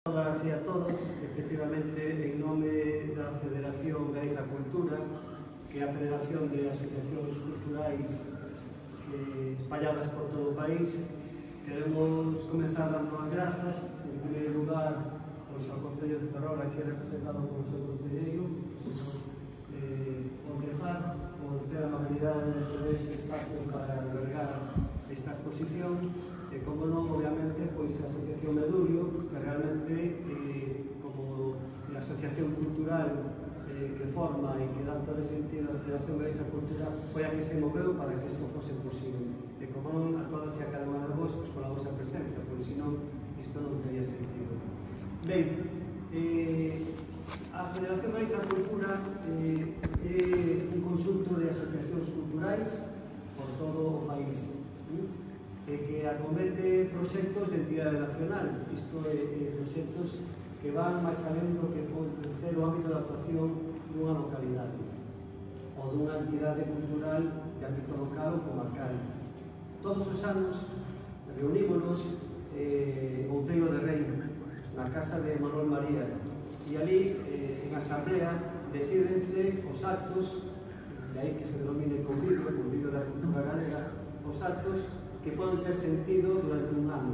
A todas e a todos, efectivamente, en nome da Federación Galiza Cultura, que é a Federación de Asociacións Culturais espalladas por todo o país, queremos comenzar dando as grazas, en primeiro lugar, ao Concello de Ferrol, aquí representado polo seu concelleiro, o señor Concejal, por ter a amabilidade de ceder este espacio para albergar esta exposición, e, como non, obviamente, pois a Asociación Medurio, que realmente, como a asociación cultural que forma e que dá todo sentido a Federación Galiza Cultural, foi a que se moveu para que isto fose posible. E, como non, a todas e a cada unha de vos, pois, pola vosa presencia, porque senón isto non teria sentido. Ben, a Federación Galiza Cultura é un conxunto de asociacións culturais por todo o país, que acomete proxectos de entidade nacional, isto é, proxectos que van máis alén do que pode ser o ámbito de actuación dunha localidade ou dunha entidade cultural de ámbito local ou comarcal. Todos os anos reunímonos Outeiro de Rei, na casa de Manuel María, e ali, en asamblea, decídense os actos, de aí que se denomine convivio da cultura galega, os actos que poden ter sentido durante un ano.